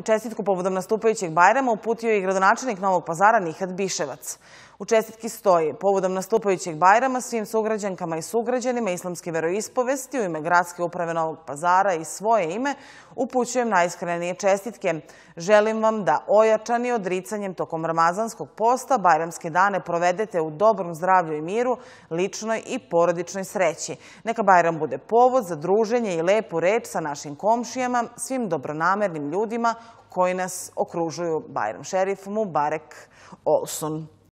čestitku povodom nastupajućeg Bajrama uputio je i gradonačelnik Novog Pazara Nihat Biševac. U čestitki stoji: povodom nastupajućeg Bajrama svim sugrađankama i sugrađanima islamske veroispovesti u ime Gradske uprave Novog Pazara i svoje ime upućujem najiskrenije čestitke. Želim vam da ojačani odricanjem tokom ramazanskog posta bajramske dane provedete u dobrom zdravlju i miru, ličnoj i porodičnoj sreći. Neka Bajram bude povod za druženje i lepu reč sa našim komšijama, svim dobronamernim ljudima koji nas okružuju. Bajram šerif Mubarek Olsun.